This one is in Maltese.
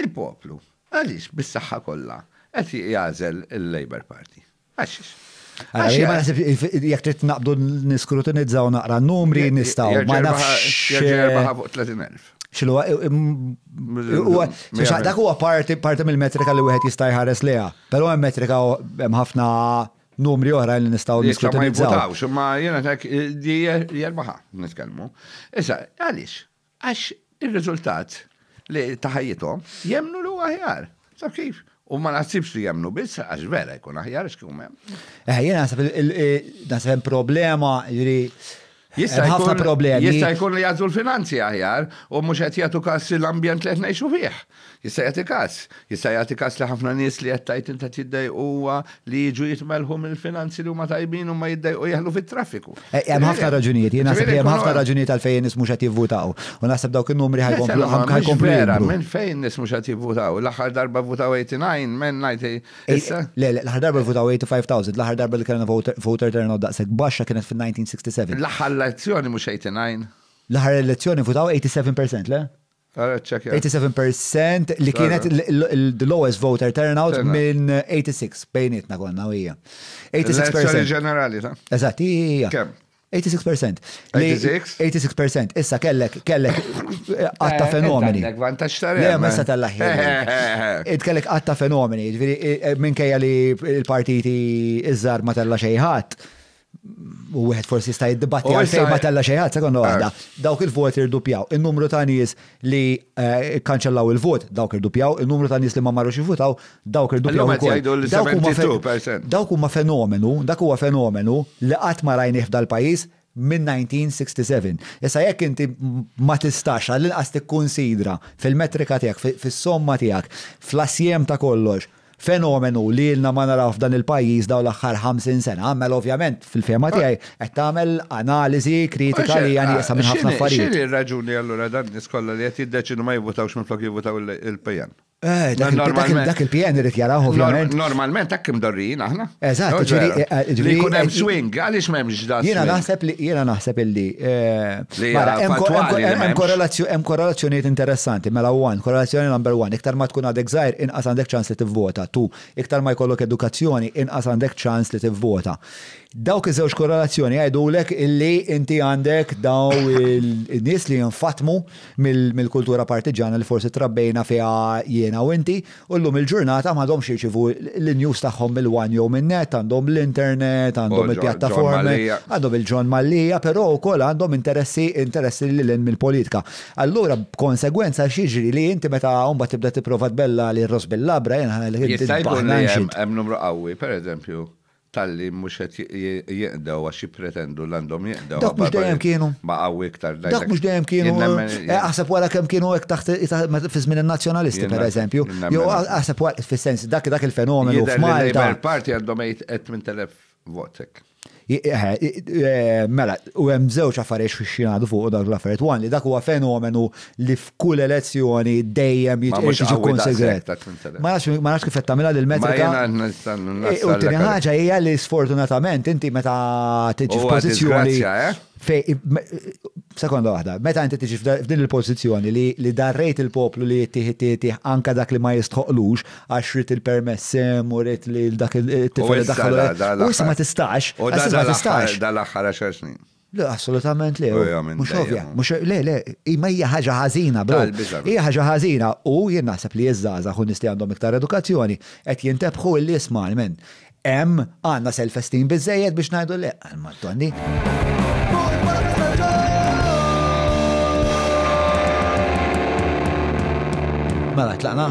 Il-poplu, għaliex bis-saħħa kollha qed jagħżel il-Labour Party? Għax Għax ma nasib jekk trid naqbdu niskrutinizzaw naqra numri nistgħu ma nafx. Jerbaħa fuq 30,000. X'inhu huwa dak huwa parti parti mill-metrika li wieħed jista' jħares lejha. Però hemm metrika hemm ħafna numri oħra li nistgħu niskrutinizzaw. Ma jiena tek jerbaħa nitkellmu. Issa għaliex? Għax ir-riżultat li ta' ħajjithom jemmnu li huwa aħjar. Taf kif? U ma naħsibx li jemmnu biss għax vera jkun aħjar għax kieku m'hemm. Eh, jiena naħseb naħseb hemm problema, jiġri Jista' jkun problemi. Jista' jkun li jagħżlu l-finanzi aħjar u mhux qed jagħtu każ l-ambjent li qed ngħixu fih. Jista' jagħti każ. Jista' jagħti każ li ħafna nies li qed tgħid int qed jiddejqu huwa li jiġu jitmellħu mill-finanzi li huma tajbin u ma jiddejqu jeħlu fit-traffiku. Eh, hemm ħafna raġunijiet, jien naħseb li hemm ħafna raġunijiet għalfejn nies mhux qed jivvutaw. U naħseb dawk in-numri ħajkomplu ħajkomplu. Vera, minn fejn nies mhux qed jivvutaw? L-aħħar darba vvutaw 89, minn 90. Issa? Le, le, l-aħħar darba vvutaw 85,000, l-aħħar darba li kellna voter turnout daqshekk baxxa kienet fil-1967. L-aħħar elezzjoni mhux 89. L-aħħar elezzjoni vvutaw 87%, le? 87% li kienet the lowest voter turnout minn 86 bejnietna konna u hija. 86%. ġenerali ta' Eżatt, hija. Kemm? 86%. 86? 86%. Issa kellek, kellek għatta eh, fenomeni. Għandek vantaġġ ta' Le, ma issa tal-aħħar. Id kellek għatta fenomeni, ġifieri eh, minkejja li l-partiti iż-żar ma tella xejn ħadd u wieħed forsi jista' jiddibatti għalfejn ma tella xejn ħadd, sekonda waħda. Eh. Dawk il-voti irdupjaw. In-numru ta' nies li eh, kanċellaw il-vot, dawk irdupjaw, in-numru ta' nies li ma marrux jivvutaw, dawk irdupjaw ukoll. Dawk huma fenomenu, dak huwa fenomenu li qatt ma rajnih f'dal-pajjiż minn 1967. Issa jekk inti ma tistax għall-inqas tikkunsidra fil-metrika tiegħek, fis-somma tiegħek, fl-assjem ta' kollox, Fenomenu li ilna ma naraw f'dan il-pajjiż dawn l-aħħar 50 sena, mela ovvjament fil-fehma tiegħi qed tagħmel analiżi kritika li hija nieqsa minn ħafna affarijiet. X'inhi r-raġuni allura dan-nies kollha li qed jiddeċiedu ma jivvutawx minflok jivvutaw il-PN? Eh, dak il-PN irid jarah ovvjament. Normalment hekk imdorrijin aħna. Eżatt, ġifieri eh, li jkun hemm swing, għaliex m'hemmx dan. Jiena naħseb li jiena naħseb illi eh, hemm korrelazzjonijiet interessanti mela one, korrelazzjoni number one, iktar ma tkun għadek żgħir inqas għandek ċans li tivvota. Two, iktar ma jkollok edukazzjoni inqas għandek ċans li tivvota. Dawk iż-żewġ korrelazzjoni jgħidulek illi inti għandek daw il-nies li jinfatmu mill-kultura partiġana li forsi trabbejna fiha jiena u inti U llum il-ġurnata m'għadhomx jirċievu l-news tagħhom mill-One jew min-Net, għandhom l-internet, għandhom il-pjattaformi, għandhom il-John Mallia, però wkoll għandhom interessi interessi lil hinn mill-politika. Allura b'konsegwenza x'jiġri li inti meta mbagħad tibda tipprova tbella' lil ross bil-labra, jiena ħa ngħidlek inti Jista' jkun li hemm numru qawwi, pereżempju, Talli mhux qed jinqdew għax jippretendu li għandhom jinqdew. Dawk mhux dejjem kienu. Ma qawwi iktar. Dawk mhux dejjem kienu. Eh, aħseb wara kemm kienu hekk taħt fi żmien in-nazzjonalisti pereżempju. Jew aħseb wara fis-sens dak dak il-fenomenu f'Malta. Labour Party għandhom 8000 vot hekk. Eh, eh, mela, u hemm żewġ affarijiet xi fuq dak l-affarijiet. One li dak huwa fenomenu li f'kull elezzjoni dejjem jiġi konsidrat. Ma nafx kif qed tagħmilha lil metrika. E, u tieni ħaġa hija li sfortunatament inti meta tiġi f'pożizzjoni eh? Sekonda waħda, meta inti tiġi f'din il-pożizzjoni li darrejt il-poplu li jittieħ jittieħ anka dak li ma jistħoqlux għax rid il-permess u rid li dak il-tifel daħlu. U issa ma tistax. U ma tistax. Dal-aħħar 10 snin. Le, assolutament le. Mhux ovvja, mhux le, le, imma hija ħaġa ħażina, bro. Hija ħaġa ħażina u jien naħseb li ż-żgħażagħ u nies li għandhom iktar edukazzjoni qed jintebħu illi isma' men hemm għandna self-esteem biżejjed biex ngħidu le, Madonni. Mela, tlaqna?